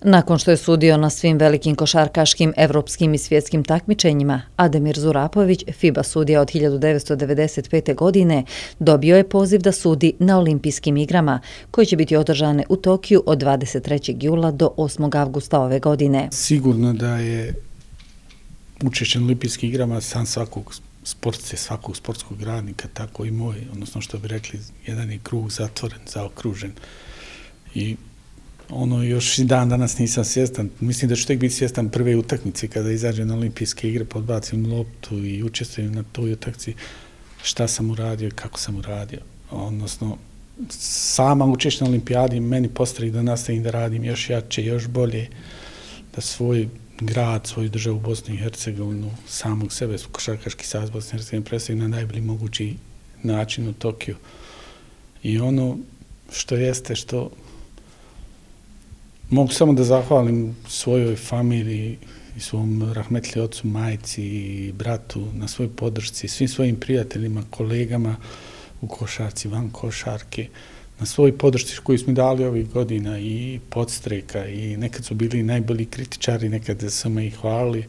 Nakon što je sudio na svim velikim košarkaškim, evropskim i svjetskim takmičenjima, Ademir Zurapović, FIBA sudija od 1995. godine, dobio je poziv da sudi na Olimpijskim igrama, koje će biti održane u Tokiju od 23. jula do 8. avgusta ove godine. Sigurno da je učešće na Olimpijskim igrama san svakog sportce, svakog sportskog radnika, tako i moj, odnosno što bi rekli, jedan je krug zatvoren, zaokružen. I još i dan danas nisam svjestan. Mislim da ću tek biti svjestan prve utakmice kada izađem na Olimpijske igre, podbacim loptu i učestvujem na toj utakmici šta sam uradio i kako sam uradio. Odnosno, sama učešća na Olimpijadi meni postavi da nastavim da radim još jače, još bolje, da svoj grad, svoju državu Bosnu i Hercegovinu, samog sebe, košarkaški savez Bosne i Hercegovine predstavim na najbolji mogući način u Tokiju. I ono što jeste, što mogu samo da zahvalim svojoj familiji i svom rahmetli ocu, majci i bratu na svojoj podršci, svim svojim prijateljima, kolegama u košarci, van košarke, na svojoj podršci koju smo dali ovih godina i podstreka i nekad su bili najbolji kritičari, nekad smo ih hvalili,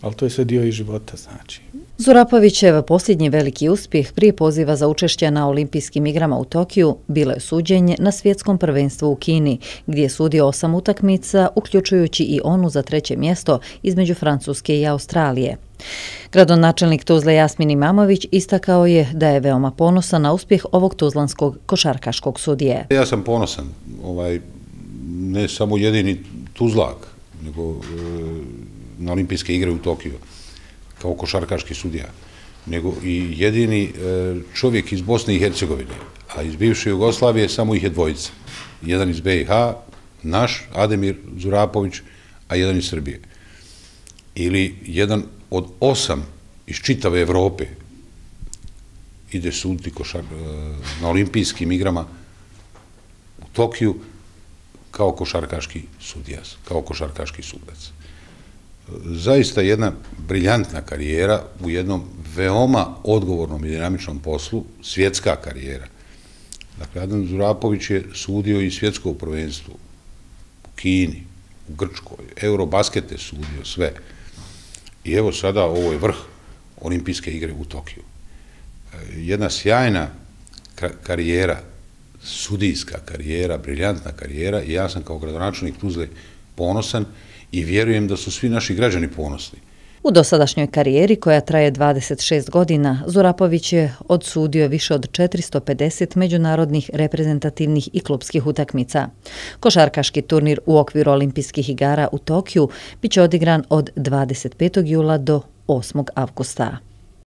ali to je sve dio i života, znači. Zurapovićev posljednji veliki uspjeh prije poziva za učešće na Olimpijskim igrama u Tokiju bilo je suđenje na svjetskom prvenstvu u Kini, gdje je sudio 8 utakmica, uključujući i onu za 3. mjesto između Francuske i Australije. Gradonačelnik Tuzle Jasmin Imamović istakao je da je veoma ponosan na uspjeh ovog tuzlanskog košarkaškog sudije. Ja sam ponosan, ne samo jedini Tuzlak, nego na Olimpijske igre u Tokiju kao košarkaški sudija, nego i jedini čovjek iz Bosne i Hercegovine, a iz bivše Jugoslavije samo ih je dvojica. Jedan iz BiH, naš, Ademir Zurapović, a jedan iz Srbije. Ili jedan od 8 iz čitave Evrope ide suditi na Olimpijskim igrama u Tokiju kao košarkaški sudija, kao košarkaški sudac. Zaista jedna briljantna karijera u jednom veoma odgovornom i dinamičnom poslu, svjetska karijera. Dakle, Ademir Zurapović je sudio i svjetsko prvenstvo u Kini, u Grčkoj, Eurobasket je sudio sve. I evo sada ovo je vrh Olimpijske igre u Tokiju. Jedna sjajna karijera, sudijska karijera, briljantna karijera i ja sam kao gradonačelnik Tuzle ponosan i vjerujem da su svi naši građani ponosni. U dosadašnjoj karijeri, koja traje 26 godina, Zurapović je odsudio više od 450 međunarodnih reprezentativnih i klubskih utakmica. Košarkaški turnir u okviru Olimpijskih igara u Tokiju biće odigran od 25. jula do 8. avgusta.